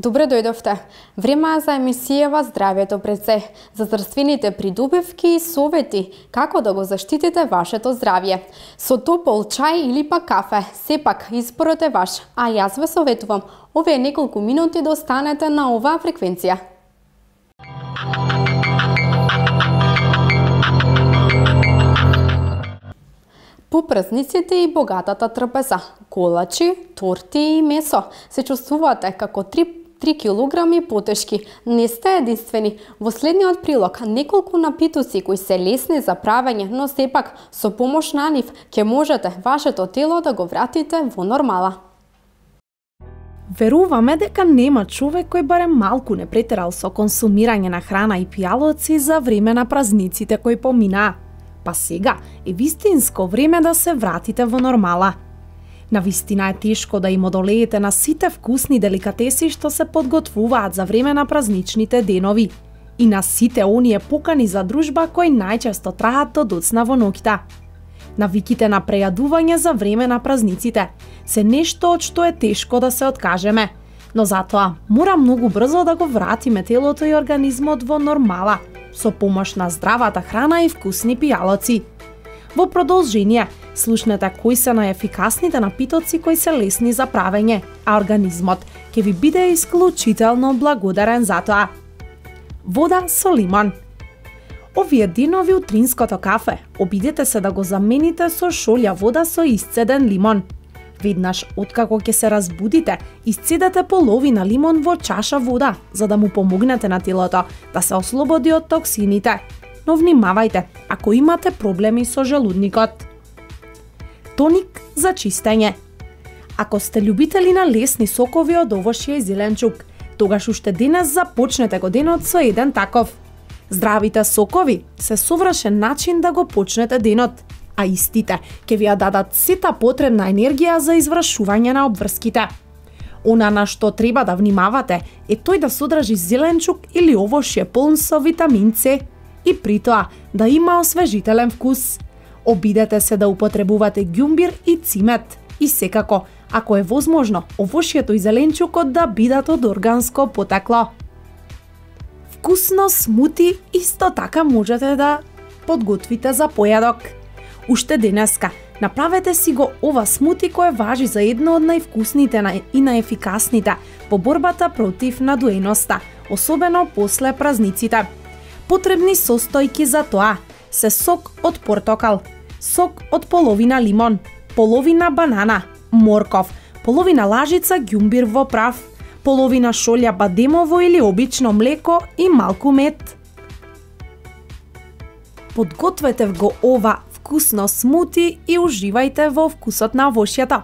Добре дојдовте. Време е за емисијава Здравјето пред се, за здравствените придобивки и совети како да го заштитите вашето здравје. Со топол чај или пак кафе, сепак изборот е ваш, а јас ве советувам овие неколку минути да останете на оваа фреквенција. По празниците и богатата трпеза, колачи, торти и месо се чувствувате како 3 килограми потешки. Не сте единствени. Во следниот прилог неколку напитоци кои се лесни за правење, но сепак со помош на нив ќе можете вашето тело да го вратите во нормала. Веруваме дека нема човек кој барем малку не претерал со консумирање на храна и пијалоци за време на празниците кои поминаа. Па сега е вистинско време да се вратите во нормала. Навистина е тешко да им одолеете на сите вкусни деликатеси што се подготвуваат за време на празничните денови и на сите оние покани за дружба кои најчесто траат до доцна во ноќта. Навиките на прејадување за време на празниците се нешто од што е тешко да се откажеме, но затоа мора многу брзо да го вратиме телото и организмот во нормала со помош на здравата храна и вкусни пијалоци. Во продолжение, слушнете кои се најефикасните напитоци кои се лесни за правење, а организмот ќе ви биде исклучително благодарен за тоа. Вода со лимон. Овие денови утринското кафе обидете се да го замените со шолја вода со исцеден лимон. Веднаш откако ќе се разбудите, исцедете половина лимон во чаша вода, за да му помогнете на телото да се ослободи од токсините. Но внимавајте ако имате проблеми со желудникот. Тоник за чистење. Ако сте љубители на лесни сокови од овошје и зеленчук, тогаш уште денес започнете го денот со еден таков. Здравите сокови се совршен начин да го почнете денот, а истите ќе ви ја дадат сета потребна енергија за извршување на обврските. Она на што треба да внимавате е тој да содржи зеленчук или овошје полн со витамин С и при тоа да има освежителен вкус. Обидете се да употребувате ѓумбир и цимет и секако, ако е возможно, овошјето и зеленчукот да бидат од органско потекло. Вкусно смути исто така можете да подготвите за појадок. Уште денеска направете си го ова смути кој важи за едно од највкусните и најефикасните во борбата против надоеноста, особено после празниците. Потребни состојки за тоа се сок од портокал, сок од половина лимон, половина банана, морков, половина лажица ѓумбир во прав, половина шолја бадемово или обично млеко и малку мед. Подгответе го ова вкусно смути и уживајте во вкусот на овошјата.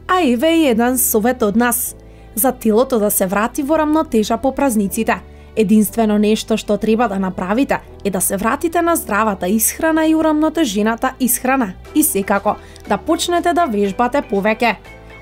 А еве и еден совет од нас. За телото да се врати во рамнотежа по празниците, единствено нешто што треба да направите е да се вратите на здравата исхрана и урамнотежената исхрана и секако да почнете да вежбате повеќе.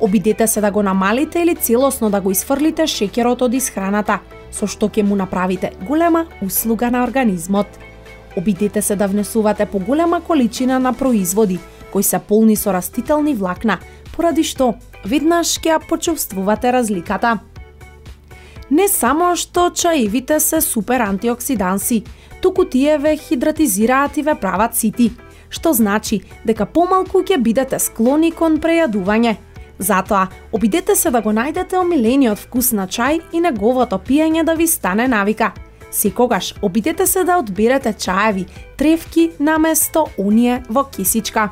Обидете се да го намалите или целосно да го исфрлите шеќерот од исхраната, со што ќе му направите голема услуга на организмот. Обидете се да внесувате поголема количина на производи кои се полни со растителни влакна, поради што веднаш ќе ја почувствувате разликата. Не само што чаевите се супер антиоксиданси, туку тие ве хидратизираат и ве прават сити, што значи дека помалку ќе бидете склони кон прејадување. Затоа, обидете се да го најдете омилениот вкус на чај и неговото пиење да ви стане навика. Секогаш обидете се да одберете чаеви, тревки наместо оние во кисичка.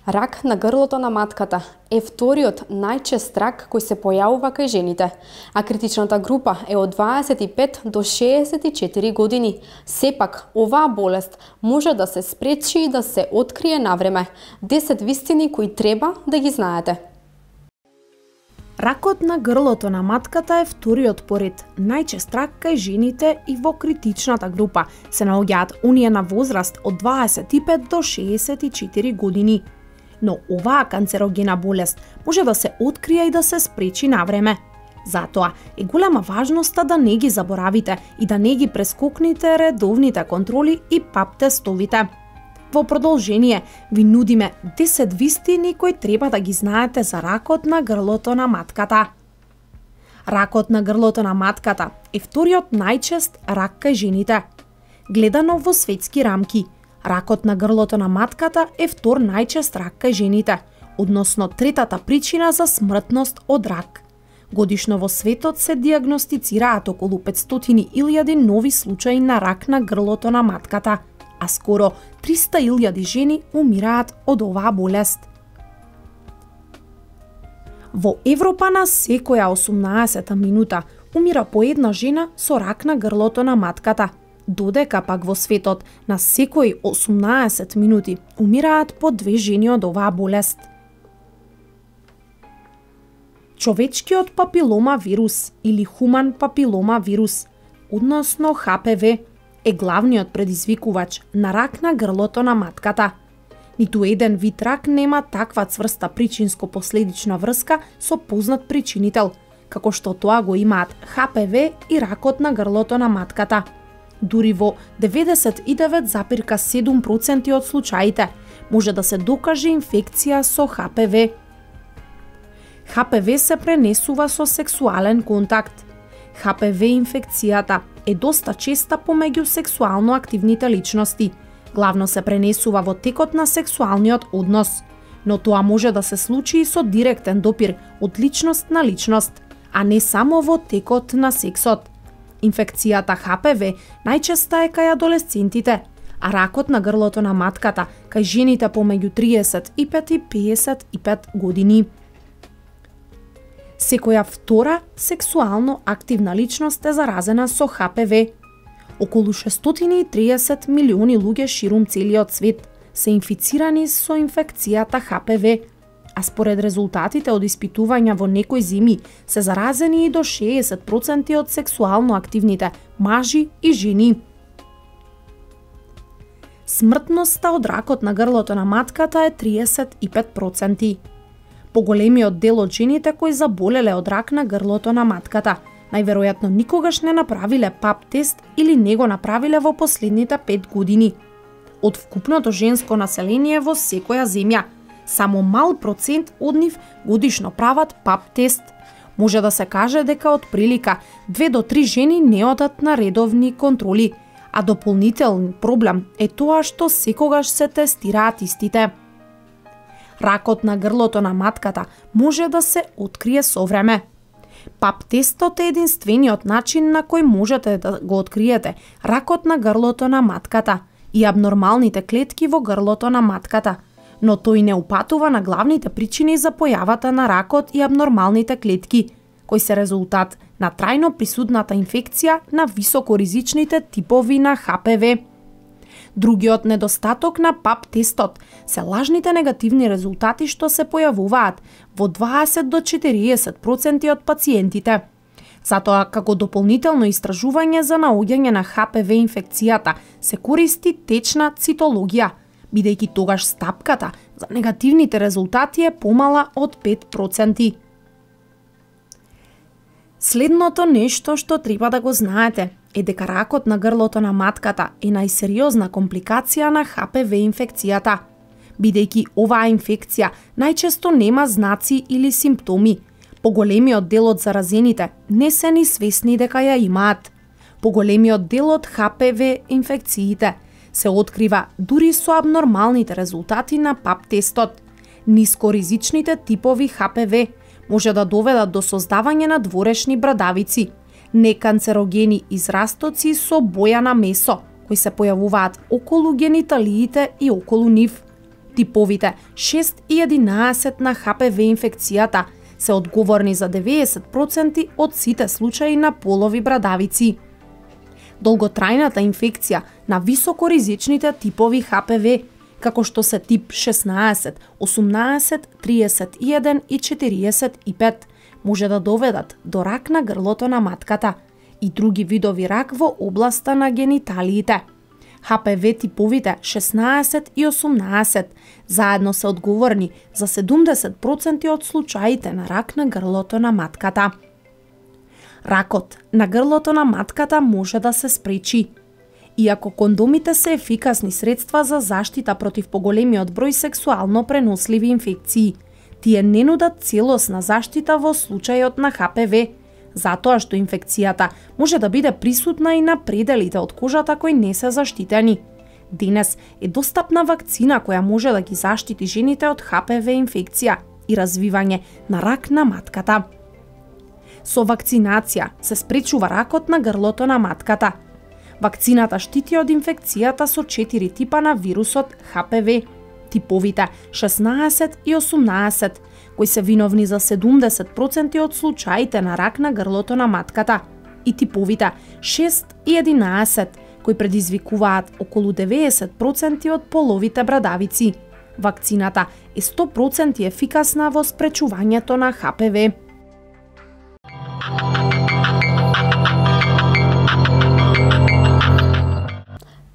Рак на грлото на матката е вториот најчест рак кој се појавува кај жените, а критичната група е од 25 до 64 години. Сепак, оваа болест може да се спречи и да се открие навреме. 10 вистини кои треба да ги знаете. Ракот на грлото на матката е вториот поред најчест рак кај жените и во критичната група се наоѓаат оние на возраст од 25 до 64 години. Но оваа канцерогена болест може да се открие и да се спречи навреме. Затоа е голема важноста да не ги заборавите и да не ги прескокнете редовните контроли и пап тестовите. Во продолжение, ви нудиме 10 вистини кои треба да ги знаете за ракот на грлото на матката. Ракот на грлото на матката е вториот најчест рак кај жените. Гледано во светски рамки, ракот на грлото на матката е втор најчест рак кај жените, односно третата причина за смртност од рак. Годишно во светот се диагностицираат околу 500.000 нови случаи на рак на грлото на матката, а скоро 300.000 жени умираат од оваа болест. Во Европа на секоја 18 минута умира по една жена со рак на грлото на матката, додека пак во светот на секои 18 минути умираат по 2 жени од оваа болест. Човечкиот папилома вирус или хуман папилома вирус, односно ХПВ, е главниот предизвикувач на рак на грлото на матката. Ниту еден вид рак нема таква цврста причинско-последична врска со познат причинител, како што тоа го имаат ХПВ и ракот на грлото на матката. Дури во 99,7% од случаите може да се докаже инфекција со ХПВ. ХПВ се пренесува со сексуален контакт. ХПВ инфекцијата е доста честа помеѓу сексуално активните личности. Главно се пренесува во текот на сексуалниот однос, но тоа може да се случи и со директен допир од личност на личност, а не само во текот на сексот. Инфекцијата ХПВ најчеста е кај адолесцентите, а ракот на грлото на матката кај жените помеѓу 35 и 55 години. Секоја втора сексуално активна личност е заразена со ХПВ. Околу 630 милиони луѓе ширум целиот свет се инфицирани со инфекцијата ХПВ, а според резултатите од испитувања во некои земји се заразени и до 60% од сексуално активните мажи и жени. Смртноста од ракот на грлото на матката е 35%. Поголемиот дел од жените кои заболеле од рак на грлото на матката најверојатно никогаш не направиле пап тест или не го направиле во последните 5 години. Од вкупното женско население во секоја земја, само мал процент од нив годишно прават пап тест. Може да се каже дека од прилика 2 до 3 жени не одат на редовни контроли, а дополнителен проблем е тоа што секогаш се тестираат истите. Ракот на грлото на матката може да се открие со време. Пап тестот е единствениот начин на кој можете да го откриете ракот на грлото на матката и абнормалните клетки во грлото на матката, но тој не упатува на главните причини за појавата на ракот и абнормалните клетки, кои се резултат на трајно присутната инфекција на високоризичните типови на ХПВ. Другиот недостаток на пап тестот се лажните негативни резултати што се појавуваат во 20 до 40% од пациентите. Затоа, како дополнително истражување за наоѓање на ХПВ инфекцијата, се користи течна цитологија, бидејќи тогаш стапката за негативните резултати е помала од 5%. Следното нешто што треба да го знаете е дека ракот на грлото на матката е најсериозна компликација на ХПВ инфекцијата, бидејќи оваа инфекција најчесто нема знаци или симптоми. Поголемиот дел од заразените не се ни свесни дека ја имаат. Поголемиот дел од ХПВ инфекциите се открива дури со абнормалните резултати на пап тестот. Нискоризичните типови ХПВ може да доведат до создавање на дворешни брадавици, неканцерогени израстоци со боја на месо, кои се појавуваат околу гениталиите и околу нив. Типовите 6 и 11 на ХПВ инфекцијата се одговорни за 90% од сите случаи на полови брадавици. Долготрајната инфекција на високоризичните типови ХПВ, како што се тип 16, 18, 31 и 45, може да доведат до рак на грлото на матката и други видови рак во областа на гениталиите. ХПВ типовите 16 и 18 заедно се одговорни за 70% од случаите на рак на грлото на матката. Ракот на грлото на матката може да се спречи. Иако кондомите се ефикасни средства за заштита против поголемиот број сексуално преносливи инфекции, тие не нудат целосна заштита во случајот на ХПВ, затоа што инфекцијата може да биде присутна и на пределите од кожата кои не се заштитени. Денес е достапна вакцина која може да ги заштити жените од ХПВ инфекција и развивање на рак на матката. Со вакцинација се спречува ракот на грлото на матката. Вакцината штити од инфекцијата со 4 типа на вирусот ХПВ, типовите 16 и 18, кои се виновни за 70% од случаите на рак на грлото на матката, и типовите 6 и 11, кои предизвикуваат околу 90% од половите брадавици. Вакцината е 100% ефикасна во спречувањето на ХПВ.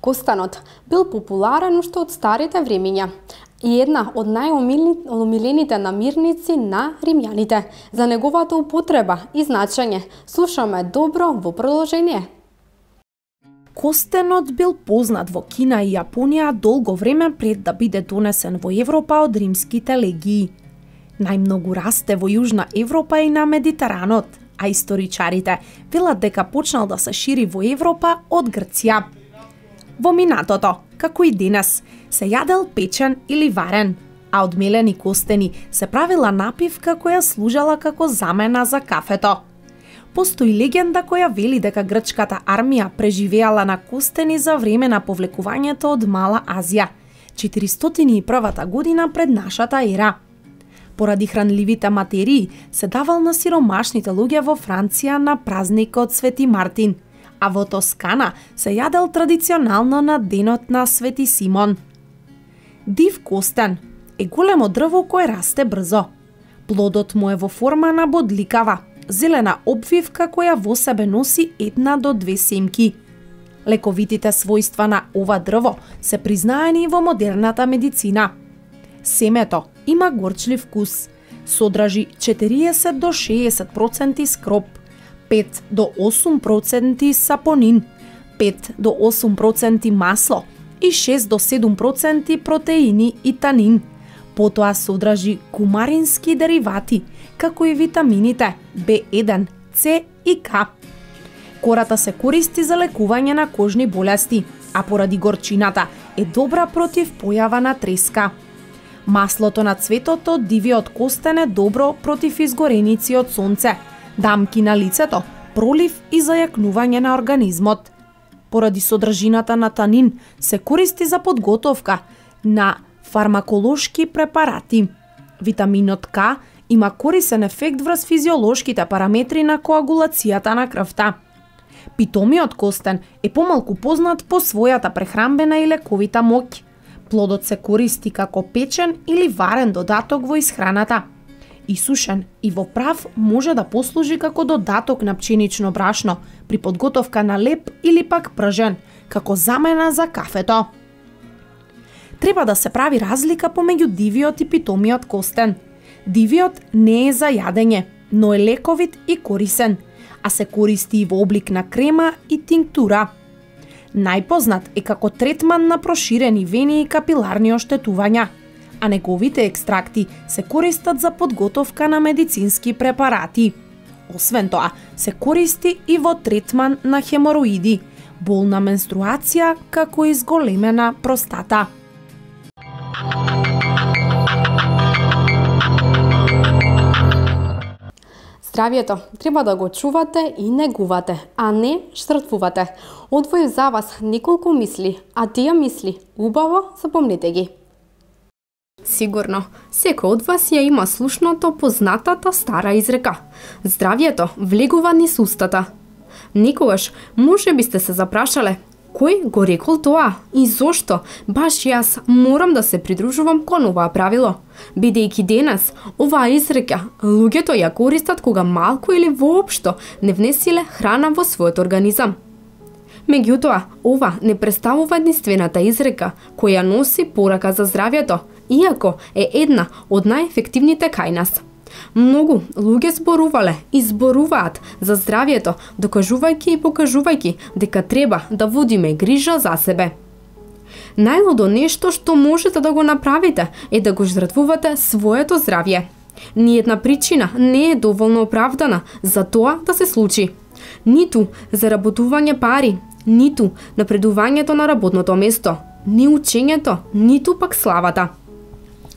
Костанот бил популарен уште од старите времиња и една од најомилените намирници на римјаните. За неговата употреба и значење слушаме добро во продолжение. Костенот бил познат во Кина и Јапонија долго време пред да биде донесен во Европа од римските легии. Најмногу расте во Јужна Европа и на Медитеранот, а историчарите велат дека почнал да се шири во Европа од Грција. Во минатото, како и денес, се јадел печен или варен, а од мелени костени се правила напивка која служела како замена за кафето. Постои легенда која вели дека грчката армија преживеала на костени за време на повлекувањето од Мала Азија, 401 година пред нашата ера. Поради хранливите материи се давал на сиромашните луѓе во Франција на празникот Свети Мартин, а во Тоскана се јадел традиционално на денот на Свети Симон. Див костен е големо дрво кое расте брзо. Плодот му е во форма на бодликава, зелена обвивка која во себе носи 1 до 2 семки. Лековитите својства на ова дрво се признаени во модерната медицина. Семето има горчлив вкус, содржи 40 до 60% скроп, 5 до 8% сапонин, 5 до 8% масло и 6 до 7% протеини и танин. Потоа содржи кумарински деривати, како и витамините B1, C и K. Кората се користи за лекување на кожни болести, а поради горчината е добра против појава на треска. Маслото на цветот од дивиот костен е добро против изгореници од сонце, дамки на лицето, пролив и зајакнување на организмот. Поради содржината на танин се користи за подготовка на фармаколошки препарати. Витаминот К има корисен ефект врз физиолошките параметри на коагулацијата на крвта. Питомиот костен е помалку познат по својата прехранбена и лековита моќ. Плодот се користи како печен или варен додаток во исхраната. Исушен и во прав може да послужи како додаток на пченично брашно при подготовка на леп или пак пржен, како замена за кафето. Треба да се прави разлика помеѓу дивиот и питомиот костен. Дивиот не е за јадење, но е лековит и корисен, а се користи и во облик на крема и тинктура. Најпознат е како третман на проширени вени и капиларни оштетувања, а неговите екстракти се користат за подготовка на медицински препарати. Освен тоа, се користи и во третман на хемороиди, болна менструација, како и зголемена простата. Здравието треба да го чувате и негувате, а не штрафувате. Одвоив за вас неколку мисли, а тие мисли убаво запомнете ги. Сигурно, секој од вас ја има слушното познатата стара изрека. Здравието влегува низ устата. Некогаш може би сте се запрашале, кој го рекол тоа и зошто баш јас морам да се придружувам кон оваа правило, бидејќи денес оваа изрека луѓето ја користат кога малку или воопшто не внесиле храна во својот организам. Меѓутоа, ова не представува единствената изрека која носи порака за здравието, иако е една од најефективните кај нас. Многу луѓе зборувале и зборуваат за здравјето, докажувајќи и покажувајќи дека треба да водиме грижа за себе. Најлудо нешто што можете да го направите е да го жртвувате своето здравје. Ниедна причина не е доволно оправдана за тоа да се случи. Ниту заработување пари, ниту напредувањето на работното место, ни учењето, ниту пак славата.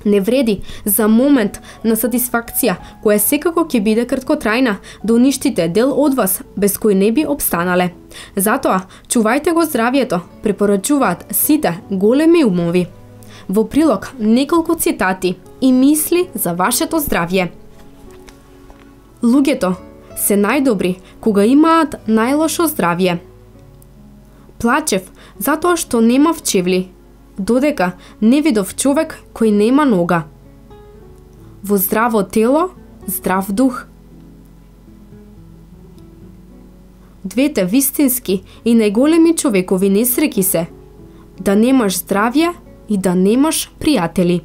Не вреди за момент на сатисфакција, која секако ќе биде краткотрајна, да уништите дел од вас без кој не би обстанале. Затоа, чувајте го здравјето, препорачуваат сите големи умови. Во прилог неколку цитати и мисли за вашето здравје. Луѓето се најдобри кога имаат најлошо здравје. Плачев затоа што немав чевли, додека не видов човек кој нема нога. Во здраво тело, здрав дух. Двете вистински и најголеми човекови несреќи се да немаш здравје и да немаш пријатели.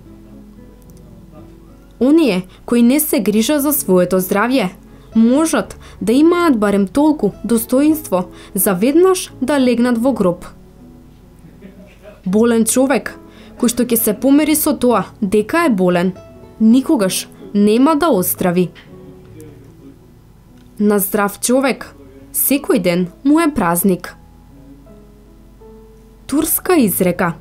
Оние кои не се грижат за своето здравје можат да имаат барем толку достоинство за веднаш да легнат во гроб. Болен човек, кој што ќе се помери со тоа дека е болен, никогаш нема да оздрави. На здрав човек секој ден му е празник. Турска изрека.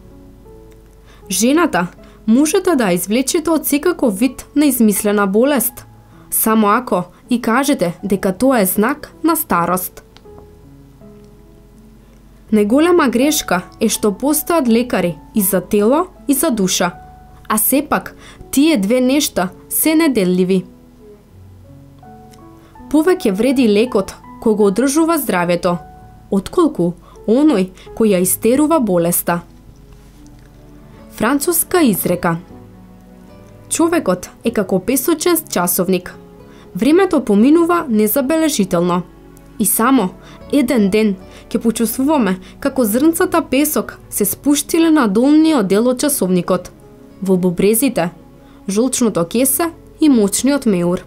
Жената можете да извлечете од секаков вид на измислена болест, само ако и кажете дека тоа е знак на старост. Најголема грешка е што постојат лекари и за тело и за душа, а сепак тие две нешта се неделливи. Повеќе вреди лекот кој го одржува здравјето, отколку оној кој ја истерува болеста. Француска изрека. Човекот е како песочен часовник. Времето поминува незабележително. И само еден ден ќе почувствуваме како зрнцата песок се спуштиле на долниот дел од часовникот, во бубрезите, жолчното кесе и мочниот меур.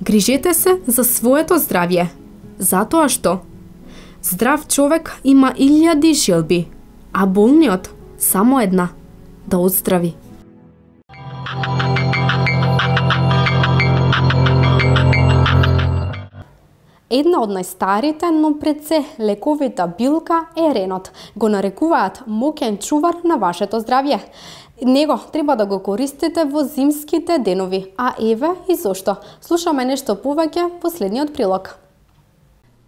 Грижете се за своето здравје, затоа што здрав човек има 1000 желби, а болниот само една, да оздрави. Една од најстарите, но пред се лековита билка е ренот. Го нарекуваат моќен чувар на вашето здравје. Него треба да го користите во зимските денови, а еве и зошто. Слушаме нешто повеќе во следниот прилог.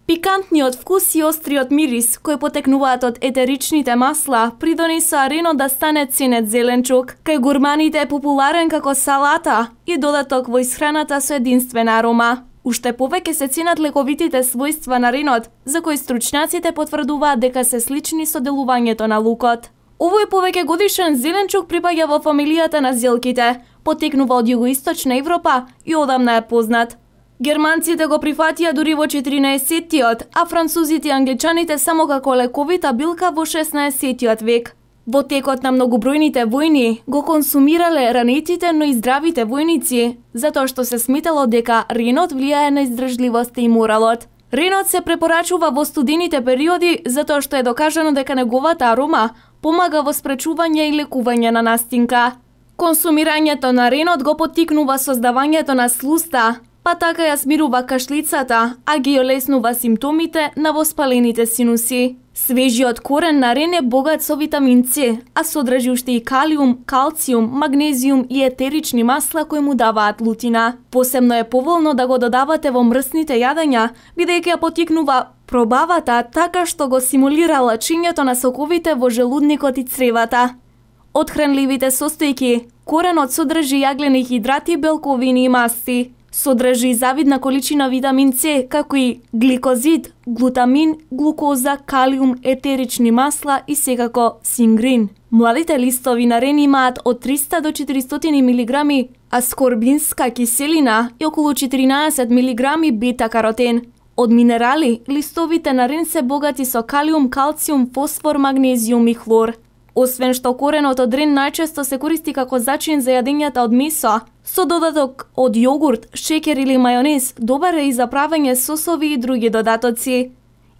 Пикантниот вкус и остриот мирис, кои потекнуваат од етеричните масла, придонесоа ренот да стане ценет зеленчук. Кај гурманите е популарен како салата и додаток во исхраната со единствена арома. Уште повеќе се ценат лековитите својства на ренот, за кои стручњаците потврдуваат дека се слични со делувањето на лукот. Овој повеќе годишен зеленчук припаѓа во фамилијата на зелките, потекнува од југоисточна Европа и одамна е познат. Германците го прифатија дури во 14-тиот, а французите и англичаните само како лековита билка во 16-тиот век. Во текот на многобројните војни го консумирале ранетите, но и здравите војници, затоа што се сметало дека ренот влијае на издржливоста и моралот. Ренот се препорачува во студените периоди затоа што е докажано дека неговата арома помага во спречување и лекување на настинка. Консумирањето на ренот го поттикнува создавањето на слуста, па така ја смирува кашлицата, а ги олеснува симптомите на воспалените синуси. Свежиот корен на рен е богат со витамин С, а содржи уште и калиум, калциум, магнезиум и етерични масла кои му даваат лутина. Посебно е поволно да го додавате во мрсните јадења, бидејќи ја поттикнува пробавата така што го симулира лачењето на соковите во желудникот и цревата. Од хранливите состојки, коренот содржи јаглени хидрати, белковини и масти. Содржи завидна количина витамин С, како и гликозид, глутамин, глукоза, калиум, етерични масла и секако сингрин. Младите листови на рен имаат од 300 до 400 мг аскорбинска киселина и околу 14 мг бета-каротен. Од минерали, листовите на рен се богати со калиум, калциум, фосфор, магнезиум и хлор. Освен што коренот од рен најчесто се користи како зачин за јадењата од месо, со додаток од јогурт, шеќер или мајонез, добар е и за правење сосови и други додатоци.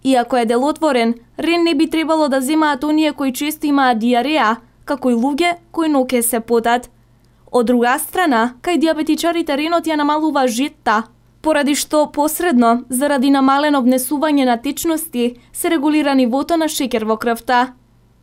Иако е делотворен, рен не би требало да земаат оние кои често имаат диареја, како и луѓе кои ноќе се потат. Од друга страна, кај диабетичарите ренот ја намалува жетта, поради што посредно, заради намалено внесување на течности, се регулира нивото на шеќер во крвта.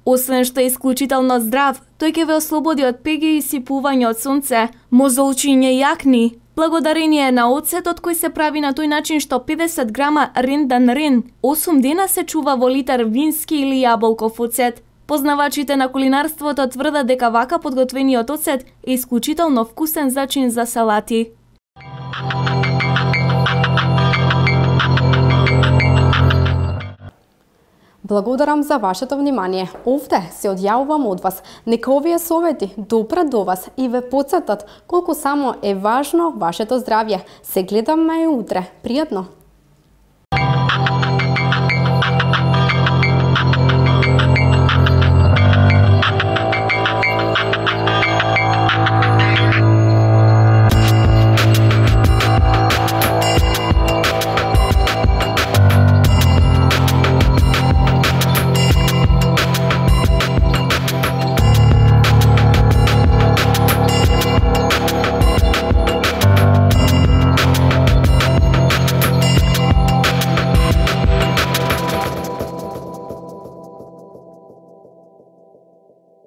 Освен што е исклучително здрав, тој ќе ве ослободи од пеги и сипување од сонце, мозолчиње и акни, благодарение на оцетот кој се прави на тој начин што 50 грама рендан рен 8 дена се чува во литар вински или јаболков оцет. Познавачите на кулинарството тврдат дека вака подготвениот оцет е исклучително вкусен зачин за салати. Благодарам за вашето внимание. Овде се одјавувам од вас. Нека овие совети допрат до вас и ве потсетат колку само е важно вашето здравје. Се гледаме и утре. Пријатно!